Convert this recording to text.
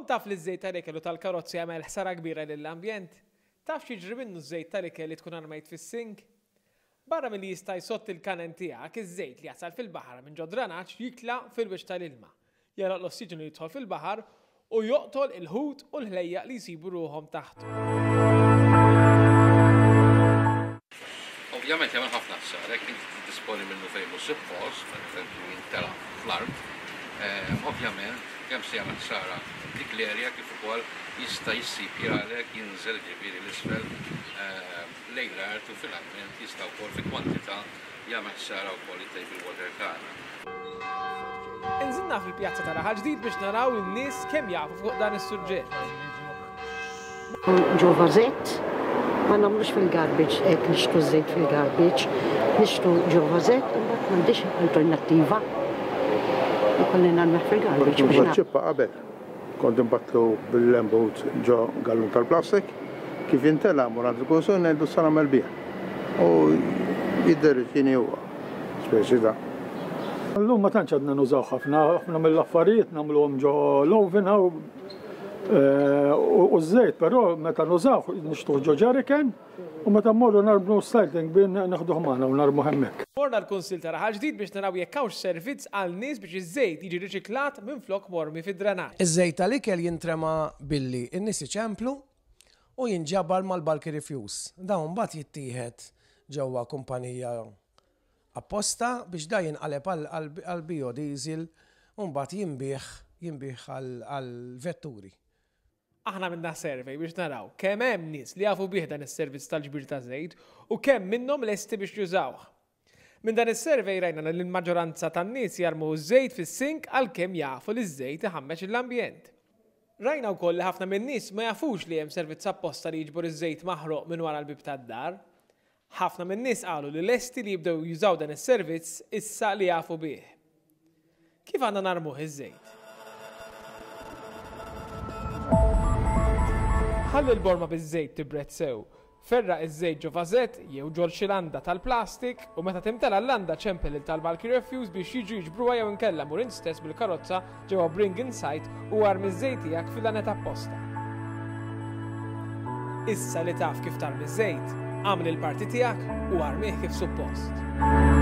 Kont taf li ż-żejt tal-ikel u tal-karozzi jagħmel ħsara kbira lill-ambjent? Taf x'jiġri minnu ż-żejt tal-ikel li tkun armejt fis-sink? Barra milli jista' jsodd il-kanen tiegħek, iż-żejt li jasal fil-baħar minn ġo dranaġġ jitla' fil-wiċċ tal-ilma, jagħlaq l-ossiġenu li jidħol fil-baħar u joqtol il-ħut u l-ħlejjaq li jsibu ruħhom taħtu. Ovvjament jagħmel ħafna ħsara jekk inti tiddisponi minnu fejn mhux suppost, pereżempju jintelaq fl-art, ovvjament kemm se jagħmel ħsara dik l-area kif ukoll jista' jissipjalek, jinżel jiġifieri 'l isfel lejn l-art u finalment jista' wkoll fi kwantità jagħmel ħsara wkoll lit-table water tagħna. Inżilna fil-pjazza ta' Raħal Ġdid biex naraw lin-nies kemm jafu fuq dan is-suġġett. Ġo vażett, ma nagħmlux fil-garbage hekk nixtru ż-żejt fil-garbage, nixtru ġo vażett u mbagħad m'għandix alternattiva. Ikolli narmih fil-garbage. Kont nuża ċ-ċippa qabel. Kont inbattlu bil-lembut ġo gallun tal-plastik. Kif jimtela mmur għand il-kunsill ngħidlu x'sa nagħmel bih. U jiddereġini huwa. Speċi ta'. Illum ma tantx għadna nużaw ħafna, ħafna mill-affarijiet nagħmluhom ġo l-oven hawn u ż-żejt però meta nużawh nixtruh ġo jerrycan u meta mmorru narmlu s-cycling bin neħduh magħna u narmuh hemmhekk. Morna l-Kunsill ta' Raħal Ġdid biex naraw jekk hawnx servizz għal nies biex iż-żejt jiġi riċiklat minflok mormi fid-drenaġġ. Iż-żejt tal-ikel jintrema billi n-nies iċemplu u jinġabar mal-bulky refuse. Dawn mbagħad jittieħed ġewwa kumpanija apposta biex da jinqaleb għal biodiesel u mbagħad jinbiegħ jinbiegħ għall-vetturi. Aħna għamilna survey biex naraw kemm hemm nies li jafu bih dan is-servizz tal-ġbir ta' żejt u kemm minnhom lesti biex jużawh. Minn dan is-survey rajna li l-maġġoranza tan-nies jarmu ż-żejt fis-sink għalkemm jafu li ż-żejt iħammeġ lill-ambjent. Rajna wkoll li ħafna min-nies ma jafux li hemm servizz apposta li jiġbor iż-żejt maħruq minn wara l-bieb tad-dar. Ħafna min-nies qalu li lesti li jibdew jużaw dan is-servizz issa li jafu bih. Kif għandna narmuh iż-żejt? Ħalli l-borma biż-żejt tibred sew. Ferra' iż-żejt ġo vażett jew ġol xi landa tal-plastik u meta timtela l-landa ċempel lil tal-Bulky Refuse biex jiġu jiġbruha jew inkella mur int stess bil-karozza ġewwa Bring In Site u armi ż-żejt tiegħek fil-laned apposta. Issa li taf kif tarmi ż-żejt, agħmel il-parti tiegħek u armih kif suppost.